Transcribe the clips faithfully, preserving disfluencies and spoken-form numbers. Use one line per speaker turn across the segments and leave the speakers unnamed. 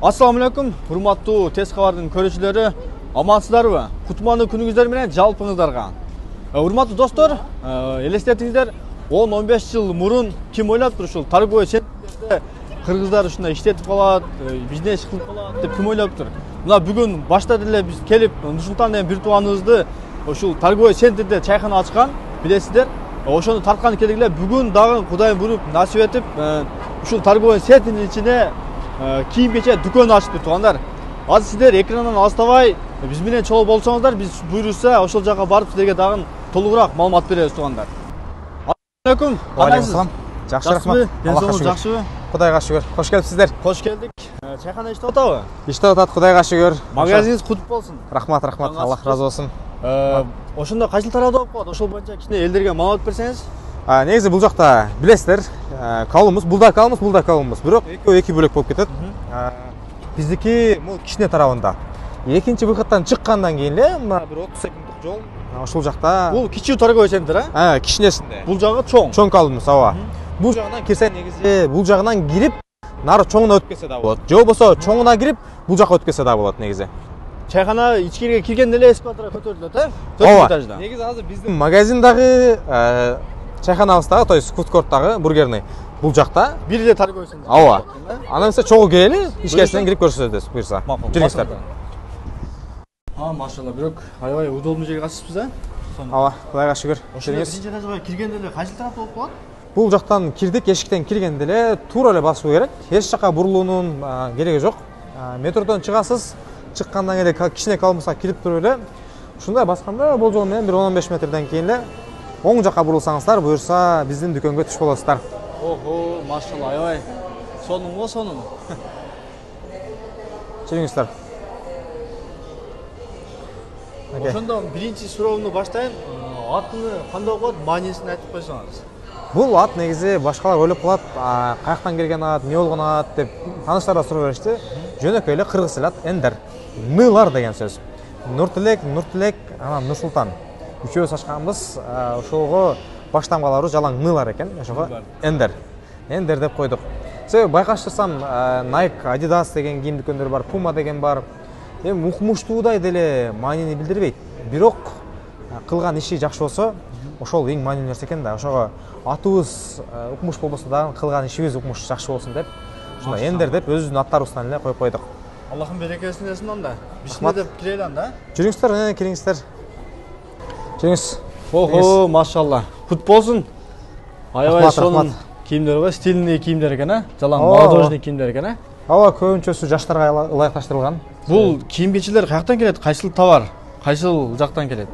Ассаламу алейкум, урматтуу Тез кабардын көрүүчүлөрү, амансыздарбы? Кутмандуу күнүңүздөр менен жалпыңыздарга. Урматтуу достор, элестетиңиздер, он он беш жыл мурун ким ойлоптур ушул торговый центрлерде кыргыздар ушундай иштетип калат, бизнес кылып калат деп ким ойлоптур? Мына бүгүн башта деле биз келип, Нурсултан деген бир тууганыбызды ушул торговый центрде чайкана ачкан, билесиздер. Ошону тарткан келип эле бүгүн дагы Кудай буйруп насип этип, ушул торговый центрдин ичине кийим кечек дүкөн ачты туугандар. Азыр сиздер экрандан алыстабай биз менен чогуу болсоңуздар, биз буйруса ошол жака барып силерге дагы толугураак маалымат беребиз туугандар. Ассаламу алейкум.
Алейкум. Жакшы рахмат.
Аллахка жакшыбы?
Кудайга шүгүр. Кош келипсиздер.
Кош келдик. Чайкана иштеп атабы?
Иштеп атат, Кудайга шүгүр.
Магазиниңиз кутуп болсун.
Рахмат, рахмат. Аллах разы болсун.
Ошондо кайсыл тарабда болуп калат? Ошол боюнча кичине элдерге маалымат берсеңиз.
Негизи бул жакта билесиздер, калыбыбыз, булда калыбыбыз, булда калыбыбыз. Бирок экөө эки бөлөк болуп кетет. Биздики бул кичине тарабында. Экинчи выходтан чыккандан кийин эле мына бир отуз секунддук жол. Ошол жакта
бул кичүү торговый центр, а?
А, кичинесинде.
Бул жагы чоң.
Чоң калыбыбыз, ооба. Бул жагынан кирсе негизи бул жагынан кирип, нары чоңуна өтүп кетсе да болот. Же болбосо чоңуна кирип, бул жака өтүп кетсе да болот негизи.
Чайкана ичкириге киргенде эле эскалаторго көтөрүлөт, э? төртүнчү этажда.
Негизи азыр биздин магазиндагы, чайканабыздагы, то есть фудкорттагы бургерный бул жакта.
Бир эле торговый центр.
Ооба. Анан сиз чогуу келели, ичкерисинен кирип көрсөтөбүз, буйрса. Жүрүңүздөр.
А, машалла, бирок аябай удобный жерге качыпсыз, э?
Ооба, Кудайга шүгүр.
Биринчи этажга киргенде эле кайсы тарапта болуп калат?
Бул жактан кирдик, эшиктен киргенде эле туура эле басуу керек. Эч жака бурулуунун кереги жок. Метродон чыгасыз, чыккандан кийин эле кичине калыбыбызга кирип туруп эле ушундай басканда болжол менен бир он он беш метрден кийин эле оң жака бурулсаңыздар, буюрса биздин дүкөнгө түшүп болосуздар.
Ого, машалла, аябай сонун го сонун.
Жүрүңүздөр.
Ошондо биринчи суроомду баштайын. Атыны кандай болот, маанисин айтып койсоңуз.
Бул ат негизи башкалар ойлоп калат, каяктан келген ат, эмне болгон ат деп тааныштар да сурап беришти. Жөнөкөй эле кыргыз тил ат Эндер. Нылар деген сөз. Нуртилек, Нуртилек, анан Нурсултан. Үчөөбүз ачканбыз, ошого баштан каларыбыз жалаң нылар экен, ошого Эндер. Эндер деп койдук. Себеби байкаштырсам, Nike, Adidas деген кийим дүкөндөр бар, Puma деген бар. Эми укмуштуудай деле маанини билдирбейт. Бирок кылган иши жакшы болсо, ошол эң маанилүү нерсе экен да. Ошого атыбыз укмуш болбосо дагы кылган ишибиз укмуш жакшы болсун деп, ушундай Эндер деп өзүбүздүн аттарыбыздан эле коюп койдук.
Аллахым берекесин берсин анда. Бисмилла деп кирели анда.
Жүрүңүздөр, кириңиздер. Жүрүңүз.
Ого, машалла. Кут болсун. Аябай сонун кийимдер го, стильный кийимдер экен, а? Жалаң молодежный кийимдер экен, а?
Ооба, көбүнчөсү жаштарга ылайыкташтырылган.
Бул кийим кечелер каяктан келет? Кайсыл товар? Кайсыл жактан келет?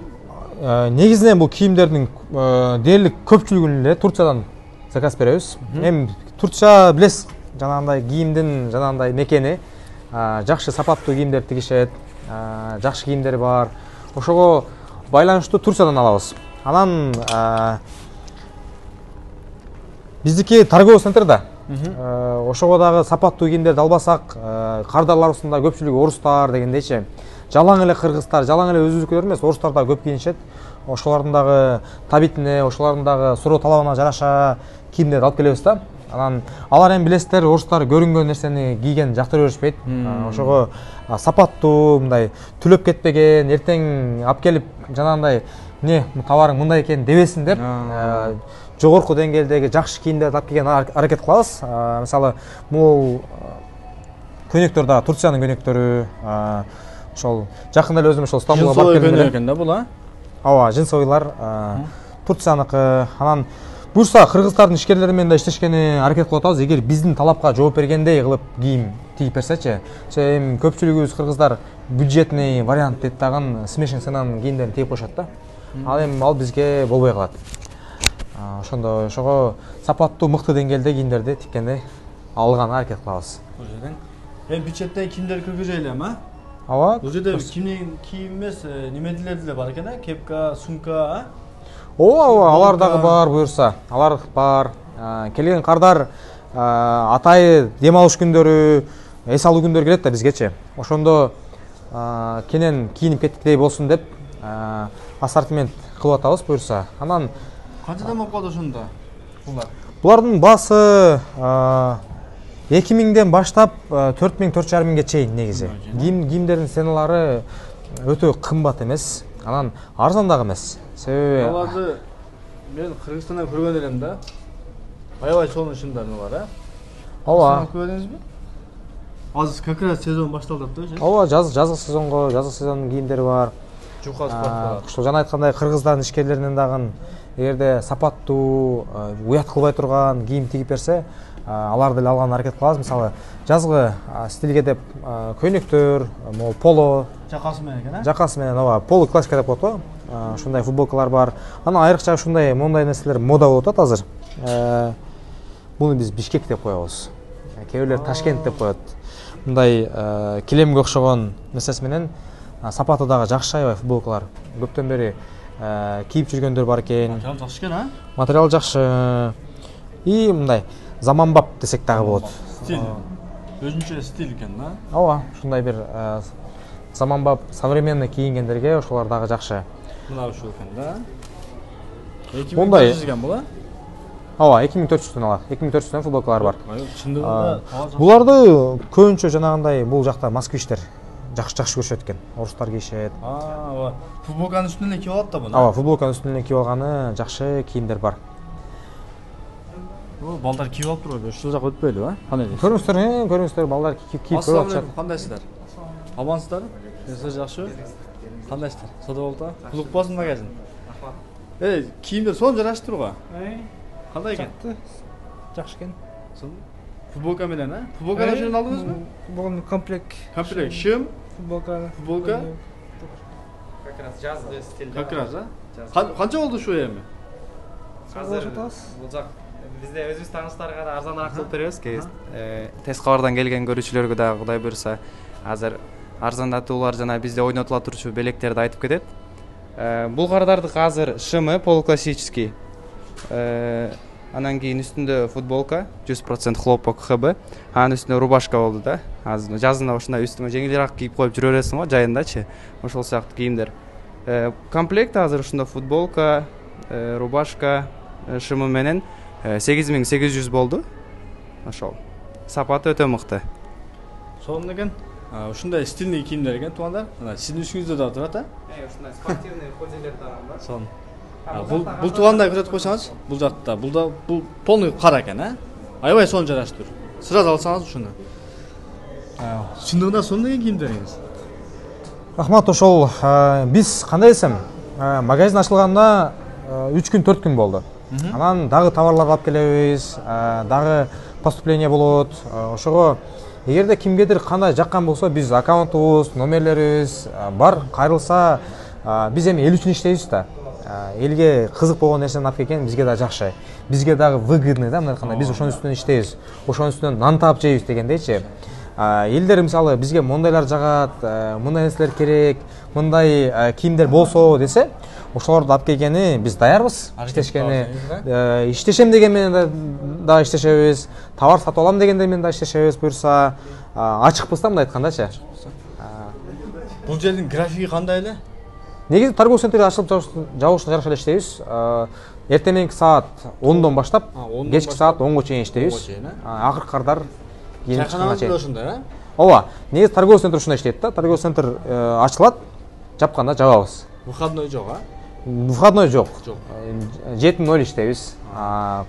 Негизинен бул кийимдердин дээрлик көпчүлүгүн эле Турциядан заказ беребиз. Эми Турция билесиз, жанагындай кийимдин жанагындай мекени, жакшы сапаттуу кийимдер тигишет, жакшы кийимдер бар. Ошого байланыштуу Турциядан алабыз. Анан биздики торговый центр да. Ошого дагы сапаттуу кийимдерди албасак, кардарларыбыздын көпчүлүгү орустар дегендейчи. Жалаң эле кыргыздар, жалаң эле өзүбүздүкүлөр эмес, орустар да көп кийинишет. Ошолордун дагы табитине, ошолордун дагы суроо талабына жараша кийимдерди алып келебиз да. Анан алар эми билесиздер, орустар көрүнгөн нерсени кийген жактыра беришпейт. Ошого сапаттуу, мындай түлөп кетпеген, эртең алып келип жанагындай эмне товарың мындай экен дебесин деп, жогорку деңгээлдеги жакшы кийимдерди алып келген аракет кылабыз. Мисалы, бул көнөктөр да Турциянын көнөктөрү, ошол жакында эле өзүм ошол Стамбулга барып келдим экен
да бул, а?
Ооба, жинсовыйлар Турцияныкы. Анан буюрса кыргыздардын ишкерлери менен да иштешкени аракет кылып атабыз. Эгер биздин талапка жооп бергендей кылып кийим тигип берсечи. Эми көпчүлүгүбүз кыргыздар бюджетный вариант деп тагын смешин ценанын кийимдерин тигип коюшат да. Ал эми ал бизге болбой калат. Ошондо ошого сапаттуу, мыкты деңгээлде кийимдерди тиккенде алганга аракет кылабыз.
Эми бюджеттеги кийимдер киргизели эми, а?
Ооба.
Бул жерде кийим эмес, немелер деле бар экен, а? Кепка, сумка, а?
Ооба, ооба, алар дагы бар буюрса. Алар бар. Келген кардар атайы дем алыш күндөрү, эс алуу күндөрү келет да бизгечи. Ошондо кенен кийинип кеттикдей болсун деп ассортимент кылып атабыз буюрса. Анан
канчадан болуп калды ошондо? Булар.
Булардын баасы эки миңден баштап төрт миң төрт жарым миңге чейин негизи. Кийим кийимдердин ценалары өтө кымбат эмес, анан арзан дагы эмес. Себеби
аларды мен Кыргызстандан көргөн элем да. Аябай сонун шымдары бар, а?
ооба.
Көрдүңүзбү? Азыр как раз сезон башталды да.
Ооба, жаз жазгы сезонго, жазгы сезондун кийимдери бар.
Жука спорт.
Ушул жана айткандай кыргыздардын ишкерлеринен дагы эгерде сапаттуу, уят кылбай турган кийим тигип берсе, аларды эле алганга аракет кылабыз. Мисалы, жазгы стилге деп көйнөктөр, могу поло,
жакасы менен экен, а?
Жакасы менен, ооба, поло классика деп коет го. Ушундай футболкалар бар. Анан айрыкча ушундай мондай нерселер мода болуп атат азыр. Буну биз Бишкек деп коебуз. Кээ бирлер Ташкент деп коет. Мындай килемге окшогон нерсеси менен сапаты дагы жакшы аябай футболкалар. Көптөн бери кийип жүргөндөр бар экен.
Материал жакшы экен, а?
Материал жакшы. И мындай заманбап десек дагы болот.
Стиль. Өзүнчө стиль экен, да?
Ооба, ушундай бир заманбап, современный кийингендерге ошолор дагы жакшы.
Мына ушул экен, да?
Мындай
экен бул, а?
Ооба, эки миң төрт жүздөн алат. эки миң төрт жүздөн футболкалар бар.
Чындыгында
буларды көбүнчө жанагындай бул жакта москвичтер жакшы жакшы көрүшөт экен. Орустар кийишет.
Аа, футболканын үстүнөн эле кийип алат да буну.
Ооба, футболканын үстүнөн кийип алганы жакшы кийимдер бар.
О, балдар кийип алып турбайбы? Ушул жак өтпөйлүбү, а? Кандай дейсиз?
Көрүңүздөр, көрүңүздөр, балдар кийип кийип
Ассалам
атышат.
алейкум, кандайсыздар? Амансыздарбы? Сиздер жакшыбы? Кандайсыздар? Сода болду? Улукбазын магазин. Эй, кийимдер сонун жарашып турго. Кандай экен?
Жакшы экен.
Футболка менен, а? Футболканы ошондон алдыңызбы?
Бул комплект.
Комплект, шым,
Футболка.
футболка.
Как раз жазгы стиль.
Как раз, а? Канча болду ушул эми?
Азыр бул жак бизде өзүбүз тааныштарга да арзаныраак кылып беребиз. Тез кабардан келген көрүүчүлөргө дагы Кудай буйруса азыр арзандатуулар жана бизде ойнотула турчу белектерди айтып кетет. Бул кардардык азыр шымы полуклассический. Анан кийин үстүндө футболка жүз процент хлопок ХБ. Анын үстүндө рубашка болду да. Азыр жазында ушундай үстүмө жеңилирээк кийип коюп жүрө бересиң го жайындачы. Ошол сыяктуу кийимдер. Комплект азыр ушунда футболка, рубашка, шымы менен сегиз миң сегиз жүз болду. Ошол. Сапаты өтө мыкты.
Сонун экен. Ушундай стильный кийимдер экен туугандар. Мына сиздин үстүңүздө да турат, а?
Э, ушундай спортивный ходилер дагы бар.
Сонун. Бул бул туугандай көрөт койсоңуз, бул жакта, бул да бул полный кара экен, а? Аябай сонун жарашып тур. Сразу алсаңыз ушуну. Чындыгында сонун экен кийимдериңиз.
Рахмат, ошол биз кандай десем, магазин ачылганда үч күн, төрт күн болду. Анан дагы товарларды алып келебиз, дагы поступление болот. Ошого эгерде кимгедир кандай жаккан болсо, биз аккаунтубуз, номерлерибиз бар, кайрылса биз эми эл үчүн иштейбиз да. Элге кызык болгон нерсени алып келген бизге да жакшы. Бизге дагы выгодный да, мындай айтканда биз ошонун үстүнөн иштейбиз. Ошонун үстүнөн нан таап жейбиз дегендейчи. Элдер мисалы бизге мондайлар жагат, мындай нерселер керек, мындай кийимдер болсо десе, ошолорду алып келгени биз даярбыз. Иштешкени, иштешем деген менен да иштешебиз, товар сатып алам дегенде менен да иштешебиз буюрса, ачыкпыз да, мындай айткандачы.
Бул жердин графиги кандай эле?
Негизи торговый центр ачылып жабылышына жараша эле иштейбиз. Эртең мененки саат ондон баштап, кечки саат онго чейин иштейбиз. Акыркы кардар
чайканабыз деле ошондой, а?
Ооба, негизи торговый центр ушундай иштейт да. Торговый центр ачылат, жапканда жабабыз.
Выходной жок, а?
Выходной жок.
Жок.
жети ноль иштейбиз.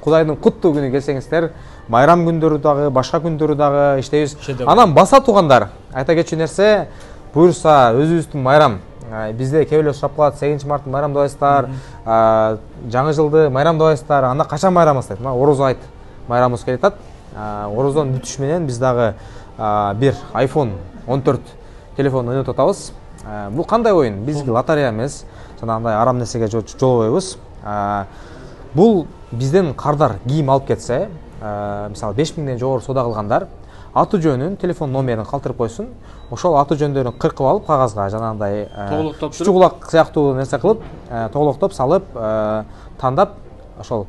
Кудайдын куттуу күнү келсеңиздер, майрам күндөрү дагы, башка күндөрү дагы иштейбиз. Анан баса туугандар, айта кетчү нерсе, буюрса өзүбүздүн майрам. Бизде кээ бирлер сурап калат, сегизинчи мартты майрамдабайсыздар, жаңы жылды майрамдабайсыздар, анда качан майрамыбыз дейт. Мына Орозо айт майрамыбыз келип атат. Орозонун бүтүшү менен биз дагы бир айфон он төрт телефон ойнотуп атабыз. Бул кандай оюн? Бизге лотерея эмес, жанагындай арам нерсеге жолобойбуз. Бул бизден кардар кийим алып кетсе, мисалы беш миңден жогору соода кылгандар аты жөнүн, телефон номерин калтырып койсун. Ошол аты жөндөрүн кыркып алып кагазга жанагындай чучу кулак сыяктуу нерсе кылып, тоголоктоп салып, тандап, ошол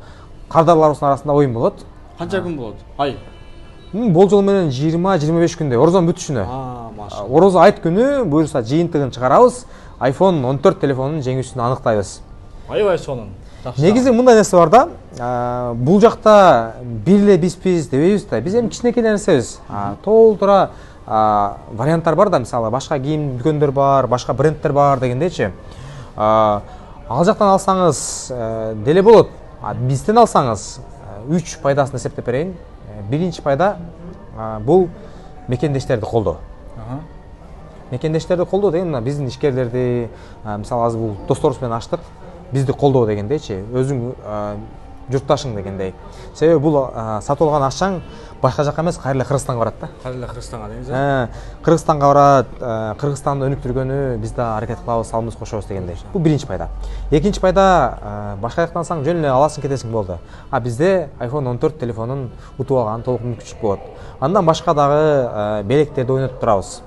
кардарларыбыздын арасында оюн болот.
Канча күн болот? Ай.
Болжол менен жыйырма жыйырма беш күндөй, Орозонун бүтүшүнө.
Аа, машалла.
Орозо айт күнү буюрса жыйынтыгын чыгарабыз, айфон он төрт телефонунун жеңүүсүн аныктайбыз.
Аябай сонун.
негизи мындай нерсе бар да, бул жакта бир эле биспиз дебейбиз да, биз эми кичинекей нерсебиз. Толтура варианттар бар да, мисалы башка кийим дүкөндөр бар, башка брендтер бар дегендейчи. Ал жактан алсаңыз деле болот. Бизден алсаңыз үч пайдасын эсептеп берейин. Биринчи пайда бул мекендештерди колдоо. Мекендештерди колдоо деген мына биздин ишкерлерди, мисалы азыр бул досторубуз менен ачтык, бизди колдоо дегендейчи, өзүң журтташың дегендей. Себеби бул сатып алган акчаң башка жакка эмес, кайра эле Кыргызстанга барат да.
Кайра эле Кыргызстанга деңиз.
Кыргызстанга барат, Кыргызстанда өнүктүргөнү биз да аракет кылабыз, салымыбыз кошобуз дегендей. Бул биринчи пайда. Экинчи пайда, башка жактан алсаң жөн эле аласың кетесиң болду. А бизде айфон он төрт телефонун утуп алган толук мүмкүнчүлүк болот. Андан башка дагы белектерди ойнотуп турабыз.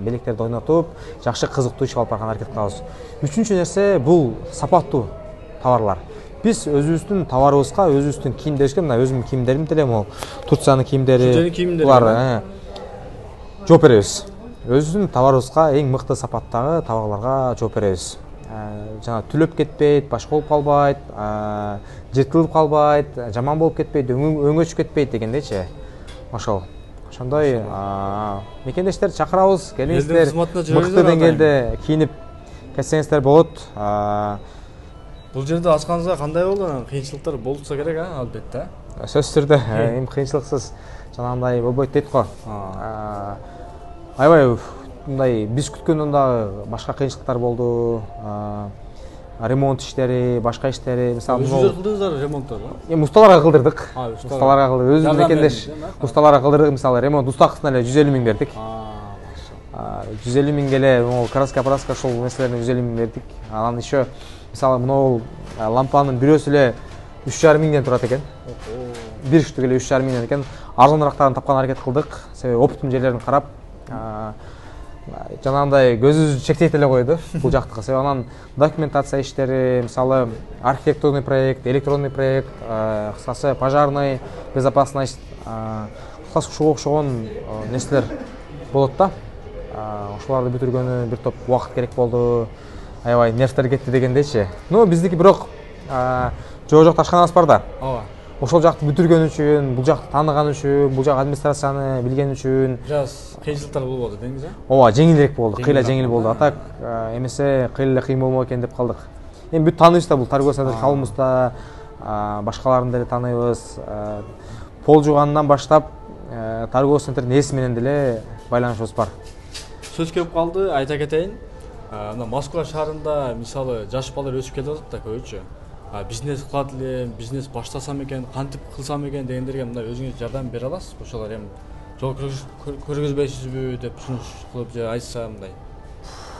Белектерди ойнотуп, жакшы кызыктуу иш алып барган аракет кылабыз. Үчүнчү нерсе бул сапаттуу товарлар. Биз өзүбүздүн товарыбызга, өзүбүздүн кийимдерибизге, мына өзүмдүн кийимдерим деле могу Турциянын кийимдери, булар жооп беребиз. Өзүбүздүн товарыбызга эң мыкты сапаттагы товарларга жооп беребиз. Жана түлөп кетпейт, башка болуп калбайт, жыртылып калбайт, жаман болуп кетпейт, өңөчүп кетпейт дегендейчи. Ошол. Ошондой мекендештерди чакырабыз, келиңиздер, мыкты деңгээлде кийинип кетсеңиздер болот.
Бул жерде ачканыңызга кандай болду? Кыйынчылыктар болса керек, а, албетте.
Сөзсүз түрдө, эми кыйынчылыксыз жанагындай болбойт дейт го. Аябай мындай биз күткөндөн дагы башка кыйынчылыктар болду. Ремонт иштери, башка иштери, мисалы,
өзүңүздөр кылдыңыздар ремонтту?
Эми усталарга кылдырдык. Усталарга кылдырдык. Өзүбүз мекендеш усталарга кылдырдык. Мисалы, ремонт устакысына эле жүз элүү миң бердик. жүз элүү миңге эле могу краска, праска ошол нерселерине жүз элүү миң бердик. Анан еще мисалы, мынау лампанын бирөөсү эле үч жарым миңден турат экен. Бир штук эле үч жарым миңден экен. Арзанырактарын тапкан аракет кылдык. Себеби оптимум жерлерин карап, жанагындай көзүбүздү чектейт эле койду бул жактыкы. Себеби анан документация иштери, мисалы, архитектурный проект, электронный проект, кыскасы пожарный, безопасность, кыскасы ушуга окшогон нерселер болот да. Ошоларды бүтүргөнү бир топ убакыт керек болду. Аябай нервтер кетти дегендейчи. Ну, биздики бирок жоо жок ташканабыз бар да.
Ооба.
Ошол жакты бүтүргөн үчүн, бул жакты тааныган үчүн, бул жак администрацияны билген үчүн
жаз кыйынчылыктар болбоду деңиз, а?
Ооба, жеңилирээк болду, кыйла жеңил болду. Атак эмесе кыйла эле кыйын болмок экен деп калдык. Эми бүт тааныйбыз да, бул торговый центр калыбыз да, башкаларын деле тааныйбыз. Пол жуугандан баштап торговый центрдин ээси менен деле байланышыбыз бар.
Сөз келип калды, айта кетейин. Мына Москва шаарында мисалы жаш балдар өсүп кетип атат да көбүнчө. Бизнес кылат элем, бизнес баштасам экен, кантип кылсам экен дегендерге мына өзүңүз жардам бере аласыз? Ошолор эми жол көргөзбөйсүзбү деп сунуш кылып же айтса мындай.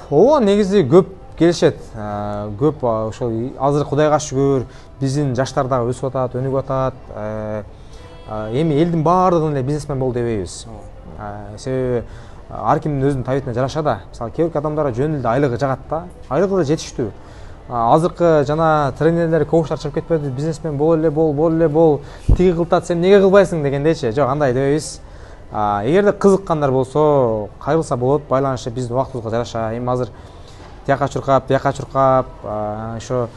Ооба, негизи көп келишет. Көп ошол азыр Кудайга шүгүр, биздин жаштар дагы өсүп атат, өнүгүп атат. Эми элдин баардыгын эле бизнесмен болду дебейбиз. Себеби ар кимдин өзүнүн табитине жараша да. Мисалы, кээ бир адамдар жөн эле айлыгы жагат да. Айлыгы да жетиштүү. Азыркы жана тренерлер коучтар чыгып кетпеди, бизнесмен бол эле бол, бол эле бол, тиги кылтат, сен эмнеге кылбайсың дегендейчи. Жок, андай дебейбиз. Эгерде кызыккандар болсо, кайрылса болот, байланышып биздин убактыбызга жараша. Эми азыр тияка чуркап, бияка чуркап, ошо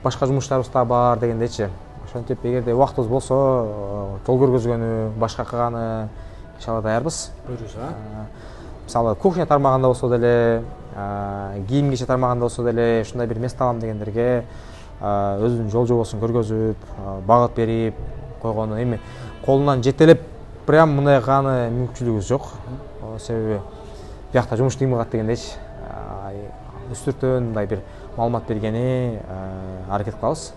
башка жумуштарыбыз да бар дегендейчи. Ошентип, эгерде убактыбыз болсо, жол көргөзгөнү, башка кылганы иншалла даярбыз.
Көрүш, а?
Мисалы, кухня тармагында болсо деле, кийим кече тармагында болсо деле, ушундай бир место алам дегендерге өзүнүн жол жобосун көргөзүп, багыт берип койгону. Эми колунан жетелеп прям мындай кылганы мүмкүнчүлүгүбүз жок. Себеби биякта жумуш кыйын кылат дегендейчи. Үстүртөн мындай бир маалымат бергени аракет кылабыз.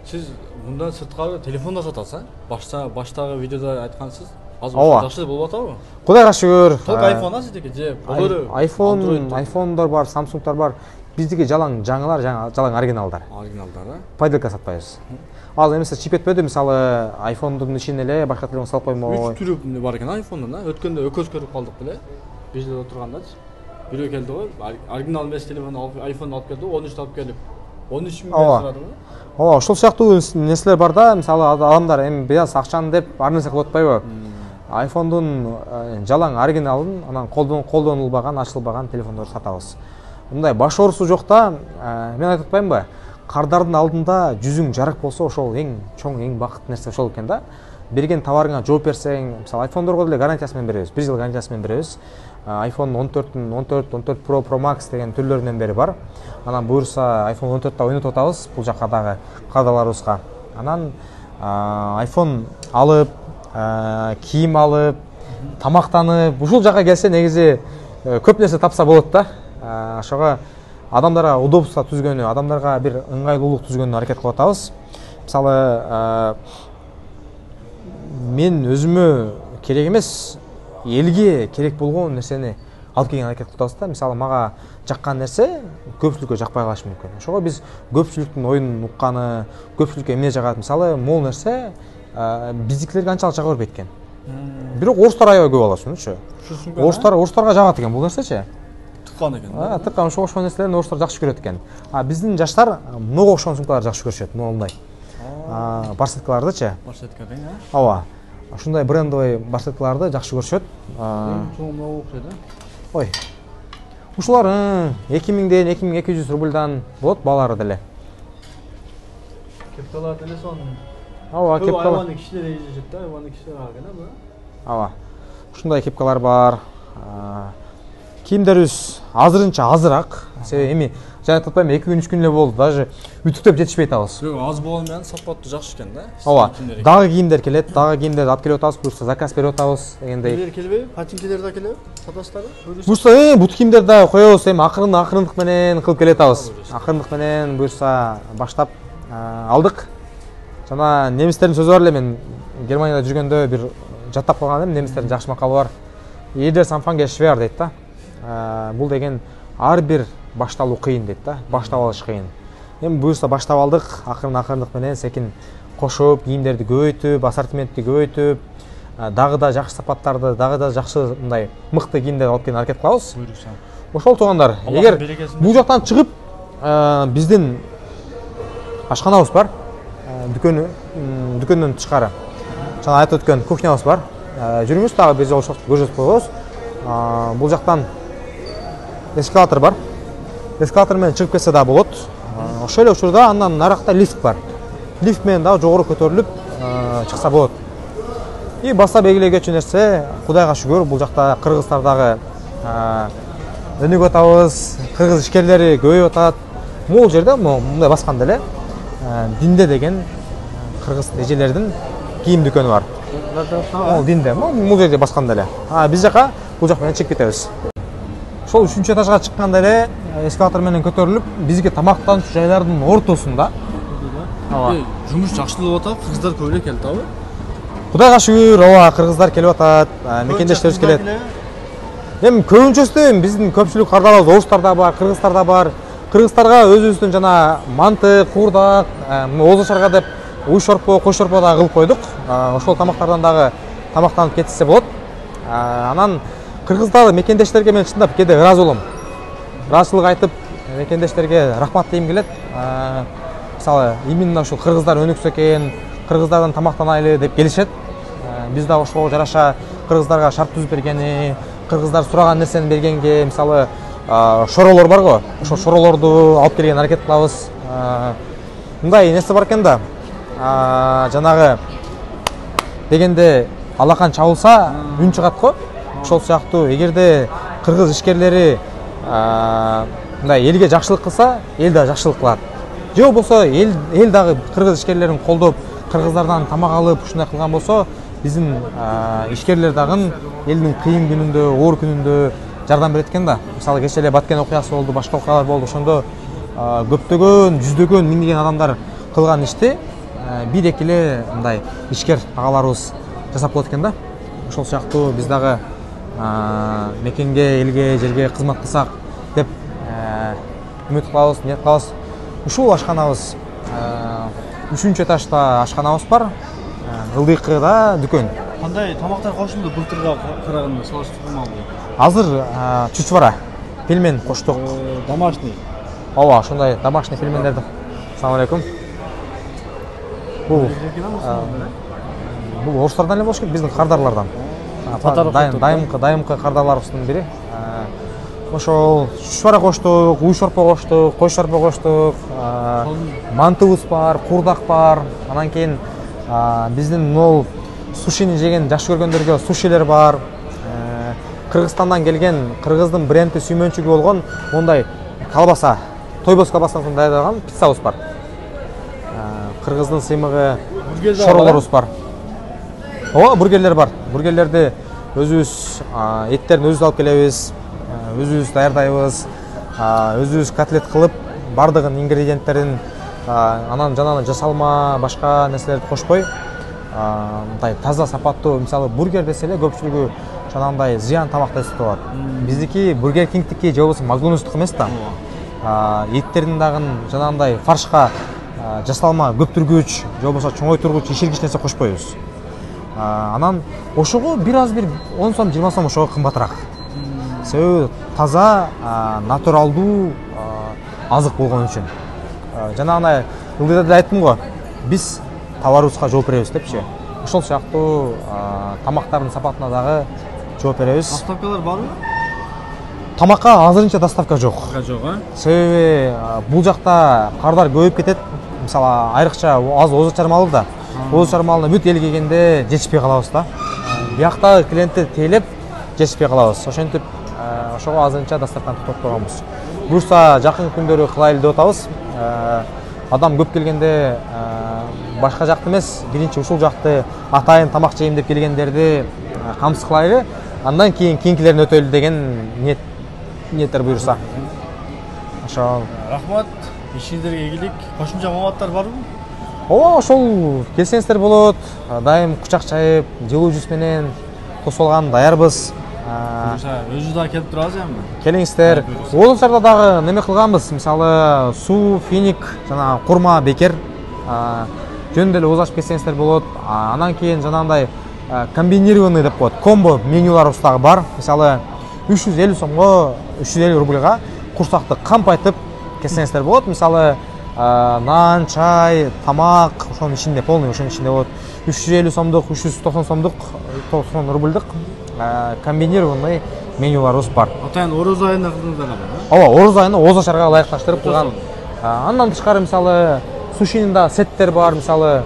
Сиз мындан сырткары телефондо сатасыз, а? Башта баштагы видеодо айткансыз. Азыр жакшы болуп атабы?
Кудайга шүгүр.
Толук айфон а сиздики же болору?
айфон, айфондор бар, Samsungдар бар. Биздики жалаң жаңылар, жалаң оригиналдар.
Оригиналдар, а?
Пайдалка сатпайбыз. Ал эмесе чип этпеди, мисалы, айфондун ичине эле башка телефон салып коймой.
Үч түрү бар экен айфондун, а? Өткөндө өкөз көрүп калдык беле. Бизде отургандачы. Бирөө келди го, оригинал эмес телефон алып, айфон алып келди, он үчтү алып келип. он үч миң сурадым.
Ооба, ошол сыяктуу нерселер бар да, мисалы адамдар эми бияз акчаны деп ар нерсе кылып атпайбы? айфондун жалаң оригиналын, анан колдонулбаган, ачылбаган телефондорду сатабыз. Мындай баш оорусу жок да, мен айтып атпаймынбы? кардардын алдында жүзүң жарык болсо ошол эң чоң, эң бакыттуу нерсе ошол экен да. Берген товарыңа жооп берсең, мисалы айфондорго деле гарантиясы менен беребиз, бир жыл гарантиясы менен беребиз. айфон он төрттүн он төрт, он төрт Pro, Pro Max деген түрлөрүнөн бери бар. Анан буюрса айфон он төрттү ойнотуп атабыз бул жакка дагы кардарларыбызга. Анан айфон алып, кийим алып, тамактанып, ушул жака келсе негизи көп нерсе тапса болот да. Ошого адамдарга удобство түзгөнү, адамдарга бир ыңгайлуулук түзгөнү аракет кылып атабыз. Мисалы, мен өзүмө керек эмес, элге керек болгон нерсени алып келген аракет кылып атабыз да. Мисалы, мага жаккан нерсе көпчүлүккө жакпай калышы мүмкүн. Ошого биз көпчүлүктүн оюнун укканы, көпчүлүккө эмне жагат, мисалы, могул нерсе биздикилерге анчалык жага бербейт экен. Бирок орустар аябай көп алат ушунучу. Орустар, орустарга жагат экен бул нерсечи.
Тыккан экен.
А, тыккан ошого окшогон нерселерди орустар жакшы көрөт экен. А биздин жаштар мынга окшогон сумкаларды жакшы көрүшөт, моундай. А, барсеткалардычы?
Барсетка дең, а?
Ооба. Ушундай брендовый барсеткаларды жакшы көрүшөт.
Чоңураак окшойт, а?
Ой. Ушулар эки миңден эки миң эки жүз рубльдан болот, баалары деле.
Кепкалар деле сон.
Ооба, кепкалар.
Айваны кишилер ээжешет да, айваны кишилер алган, а бу?
Ооба. Ушундай кепкалар бар. Кийимдерибиз азырынча азыраак. Себеби эми жана таппайм эки күн үч күн эле болду, даже үтүктөп жетишпей атабыз.
Жок, аз болгону менен сапаттуу жакшы экен да.
Ооба. Дагы кийимдер келет, дагы кийимдерди алып келип атабыз, буюрса заказ берип атабыз дегендей.
Келер келбейби? Патинкелер да келеби? Сатасыздарбы?
Буюрса, э, бут кийимдерди да коебуз, эми акырын акырындык менен кылып келе атабыз. Акырындык менен буюрса баштап алдык. Жана немистердин сөзү бар эле, мен Германияда жүргөндө бир жаттап калган элем, немистердин жакшы макалы бар. Jeder Anfang ist schwer дейт да. Бул деген ар бир башталуу кыйын дейт да. Баштап алыш кыйын. Эми буюрса баштап алдык, акырын акырындык менен секин кошуп, кийимдерди көбөйтүп, ассортиментти көбөйтүп, дагы да жакшы сапаттарды, дагы да жакшы мындай мыкты кийимдерди алып келген аракет кылабыз.
Буйрукса.
Ошол туугандар, эгер бул жактан чыгып биздин ашканабыз бар. Дүкөнү, дүкөндөн тышкары. Жана айтып өткөн кухнябыз бар. Жүрүңүз, дагы бир жолу көрсөтүп коебуз. Бул жактан эскалатор бар. Эскалатор менен чыгып кетсе да болот. Ошол эле учурда андан наракта лифт бар. Лифт менен дагы жогору көтөрүлүп чыкса болот. И баса белгилегечү нерсе, Кудайга шүгүр, бул жакта кыргыздар дагы өнүгүп атабыз, кыргыз ишкерлери көбөйүп атат. Могул жерде мындай басканда эле Динде деген кыргыз эжелердин кийим дүкөнү бар. Ол Динде, бул жерде басканда эле. А биз жака бул жак менен чыгып кетебиз. Ошол үчүнчү этажга чыкканда эле эскалатор менен көтөрүлүп, бизге тамактануучу жайлардын ортосунда.
Ооба. Жумуш жакшылап атат, кыргыздар көп эле келет абы.
Кудайга шүгүр, ооба, кыргыздар келип атат, мекендештерибиз келет. Эми көбүнчөсү биздин көпчүлүк кардарларыбыз орустар да бар, кыргыздар да бар. Кыргыздарга өзүбүздүн жана манты, куурдак, Оозо шарга деп уй шорпо, кой шорпо да кылып койдук. Ошол тамактардан дагы тамактанып кетсе болот. Анан кыргыздар мекендештерге мен чындап кээде ыраазы болом. Ыраазычылык айтып, мекендештерге рахмат дейм келет. Мисалы, именно ушул кыргыздар өнүксө экен, кыргыздардан тамактанайлы деп келишет. Биз да ошого жараша кыргыздарга шарт түзүп бергени, кыргыздар сураган нерсени бергенге, мисалы, шоролор бар го, ошол шоролорду алып келген аракет кылабыз. Мындай нерсе бар экен да. Жанагы дегенде алакан чабылса үн чыгат го. Ошол сыяктуу эгерде кыргыз ишкерлери мындай элге жакшылык кылса, эл да жакшылык кылат. Же болбосо эл эл дагы кыргыз ишкерлерин колдоп, кыргыздардан тамак алып, ушундай кылган болсо, биздин ишкерлер дагы элдин кыйын күнүндө, оор күнүндө жардам берет экен да. Мисалы, кече эле Баткен окуясы болду, башка окуялар болду. Ошондо көптөгөн, жүздөгөн, миңдеген адамдар кылган ишти бир-эки эле мындай ишкер агаларыбыз жасап болот экен да. Ошол сыяктуу биз дагы мекенге, элге, жерге кызмат кылсак деп үмүт кылабыз, ниет кылабыз. Ушул ашканабыз үчүнчү этажда ашканабыз бар. Ылдыйкыда дүкөн.
Кандай тамактар кошулду былтырга караганда салыштырмалуу?
Азыр чучвара, пельмен коштук.
Домашний.
Ооба, ошондой домашний пельмендерди. Ассалам алейкум. Бул бул орустардан эле болуш керек, биздин кардарлардан. Дайымкы, дайымкы кардарларыбыздын бири. ошол шушбара коштук, уй шорпо коштук, кой шорпо коштук, мантыбыз бар, курдак бар. Анан кийин биздин могул сушини жеген жакшы көргөндөргө сушилер бар. Кыргызстандан келген, кыргыздын бренди сүймөнчүгү болгон мондай колбаса, тойбос колбасасын даярдаган пиццабыз бар. Кыргыздын сыймыгы шоролорубуз бар. Ооба, бургерлер бар. Бургерлерди өзүбүз эттерин өзүбүз алып келебиз, өзүбүз даярдайбыз, өзүбүз котлет кылып, бардыгын ингредиенттерин анан жанагы жасалма, башка нерселерди кошпой, мындай таза сапаттуу, мисалы бургер десе эле көпчүлүгү жанагындай зыян тамакты эсеп алат. Биздики Бургер Кингтики же болбосо Макдональдстук эмес да. Эттердин дагы жанагындай фаршка жасалма көптүргүч же болбосо чоңойтургуч, иширгич нерсе кошпойбуз. Анан ошого бир аз бир он сом, жыйырма сом ошого кымбатыраак. Себеби таза, натуралдуу азык болгон үчүн. Жанагындай ылдыйда да айттым го, биз товарыбызга жооп беребиз депчи. Ошол сыяктуу тамактардын сапатына дагы жооп беребиз.
Доставкалар барбы?
Тамакка азырынча доставка жок.
Жок, а?
Себеби бул жакта кардар көбөйүп кетет. Мисалы, айрыкча аз озо чармалуу да. Озо чармалына бүт эл келгенде жетишпей калабыз да. Бияктагы клиентти тейлеп жетишпей калабыз. Ошентип, ошого азырынча доставканы токтотуп койгонбуз. Буюрса жакын күндөрү кылайлы деп атабыз. Адам көп келгенде башка жакты эмес, биринчи ушул жакты атайын тамак жейм деп келгендерди камсыз кылайлы. Андан кийин кийинкилерин өтөлү деген ниет ниеттер буюрса. Ошол.
Рахмат. Ишиңиздерге ийгилик. Кошумча маалыматтар барбы?
Ооба, ошол келсеңиздер болот. Дайым кучак чайып, жылуу жүз менен тосулган даярбыз.
Өзү да келип турабыз эми.
Келиңиздер. Олончарда дагы неме кылганбыз. Мисалы, суу, финик, жана курма, бекер жөнүндө эле ооз ачып кетсеңиздер болот. Анан кийин жанагындай комбинированный деп коет. Комбо менюларыбыз дагы бар. Мисалы, үч жүз элүү сомго, үч жүз элүү рубльга курсакты кампайтып кетсеңиздер болот. Мисалы, нан, чай, тамак, ошонун ичинде полный, ошонун ичинде болот. үч жүз элүү сомдук, үч жүз токсон сомдук, токсон рубльдик комбинированный менюларыбыз бар.
Атайын ороз айына кылдыңыздар да?
Ооба, ороз айына ооз ачарга ылайыкташтырып кылган. Андан тышкары мисалы сушинин да сеттер бар, мисалы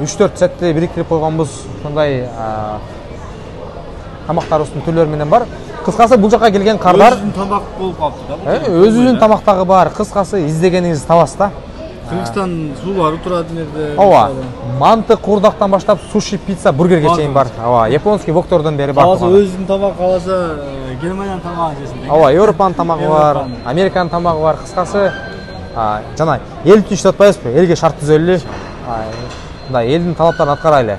үч төрт сетти бириктирип койгонбуз. Ошондой тамактарыбыздын түрлөрү менен бар. Кыскасы бул жака келген кардар
өзүнүн тамак болуп калыптыр да.
Өзүнүн тамактагы бар. Кыскасы издегениңизди табасыз да.
Кыргызстан суулары турат жерде.
Ооба. Манты, курдактан баштап суши, пицца, бургерге чейин бар. Ооба, японский воктордон бери бар.
Каласа өзүнүн тамак, каласа Германиянын тамагын жесин.
Ооба, Европанын тамагы бар, Американын тамагы бар. Кыскасы жана эл үчүн иштеп атпайбызбы? Элге шарт түзөлү. Мындай элдин талаптарын аткарайлы.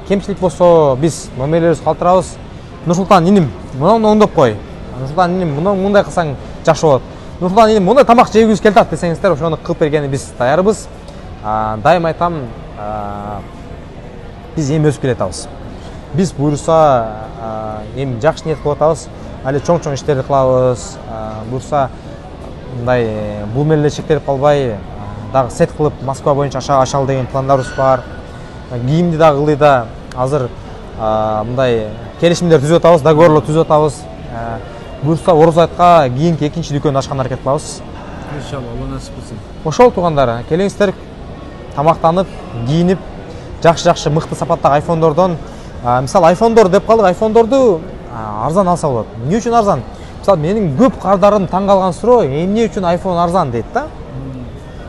Кемчилик болсо биз номерлерибизди калтырабыз. Нурсултан иним, муну оңдоп кой. Нурсултан иним, муну мындай кылсаң жакшы болот. Нурсултан иним, мындай тамак жегибиз келип атат десеңиздер, ошону кылып бергени биз даярбыз. Дайым айтам, биз эми өсүп келатабыз. Биз буюрса эми жакшы ниет кылып атабыз. Али чоң-чоң иштерди кылабыз. Буюрса мындай бул менен эле чектелип калбай, дагы сет кылып Москва боюнча ашалы деген пландарыбыз бар. Кийимди дагы ылдыйда азыр мындай келишимдер түзүп атабыз, договорлор түзүп атабыз. Буюрса ороз айтка кийинки экинчи дүкөн ачканды аракет кылабыз.
Иншалла, Алла насип кылсын.
Ошол туугандар, келиңиздер, тамактанып, кийинип, жакшы-жакшы мыкты сапаттагы айфондордон, мисалы айфондор деп калдык, айфондорду арзан алса болот. Эмне үчүн арзан? Мисалы менин көп кардарым таң калган суроо, эмне үчүн айфон арзан дейт да?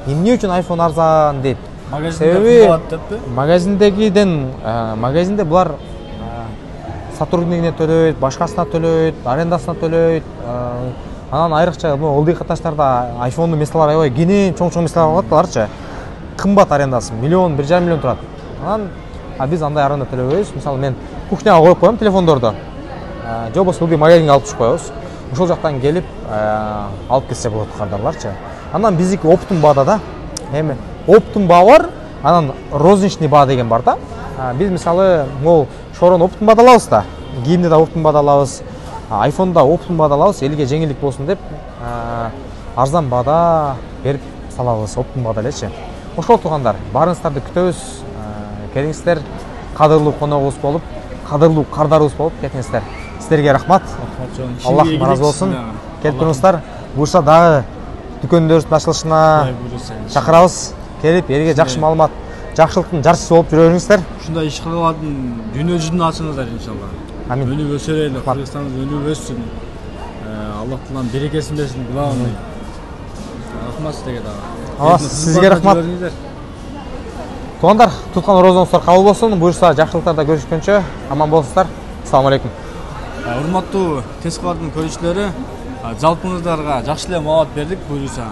Эмне үчүн айфон арзан дейт?
Магазинде кымбат деппи?
Магазиндегиден, магазинде булар сотруднигине төлөйт, башкасына төлөйт, арендасына төлөйт. Анан айрыкча ылдый каташтарда айфондун месталары аябай кенен чоң-чоң месталар алат аларчы. Кымбат арендасы, миллион, бир жарым миллион турат. Анан биз андай аренда төлөбөйбүз. Мисалы мен кухняга коюп коем телефондорду. Же болбосо ылдый магазинге алып чыгып коебуз. Ошол жактан келип алып кетсе болот кардарларчы. Анан биздики оптун баада да. Эми оптун баа бар, анан розничный баа деген бар да. Биз мисалы могул шорон оптун баада алабыз да. Кийимди да оптун баада алабыз. Айфонда оптун баада алабыз, элге жеңилдик болсун деп арзан баада берип салабыз, оптун баада элечи. Ошол туугандар, баарыңыздарды күтөбүз. Келиңиздер, кадырлуу коногубуз болуп, кадырлуу кардарыбыз болуп кетиңиздер. Сиздерге рахмат. Аллах ыраазы болсун. келип туруңуздар. Буюрса дагы дүкөндөрүбүздүн ачылышына чакырабыз. Келип элге жакшы маалымат, жакшылыктын жарчысы болуп жүрө бериңиздер.
Ушундай иш кылып дүйнө жүзүнө ачыңыздар иншалла.
Амин.
Өнүп өсөрөлү, Кыргызстаныбыз өнүп өссүн. Аллах Таалам берекесин берсин, кылабыз. Рахмат сизге дагы.
Сизге рахмат. Туугандар, туткан орозоңуздар кабыл болсун. Буюрса жакшылыктарда көрүшкөнчө аман болуңуздар. Ассаламу алейкум.
Урматтуу Тез кабардын көрүүчүлөрү, жалпыңыздарга жакшы эле маалымат бердик. Буюрса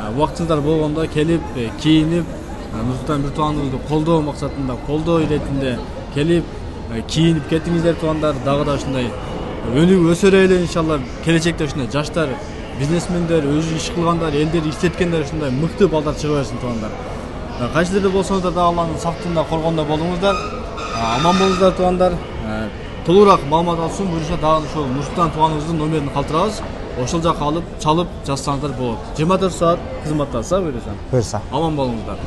убактыңыздар болгондо келип, кийинип, Нурсултан бир тууганыбызды колдоо максатында, колдоо иретинде келип, кийинип кетиңиздер туугандар. Дагы да ушундай өнүгүп өсөрөлү иншалла. Келечекте ушундай жаштар, бизнесмендер, өзү иш кылгандар, элдерди иштеткендер ушундай мыкты балдар чыга берсин туугандар. Кайсы жерде болсоңуздар да Алланын сактыгында, коргонунда болуңуздар. Аман болуңуздар туугандар. Толугураак маалымат алуу үчүн буюрса дагы ошол Нурсултан тууганыбыздын номерин калтырабыз. Ошол жака алып, чалып жазсаңыздар болот. жыйырма төрт саат кызматтасыз, буюрса.
Буюрса.
Аман болуңуздар.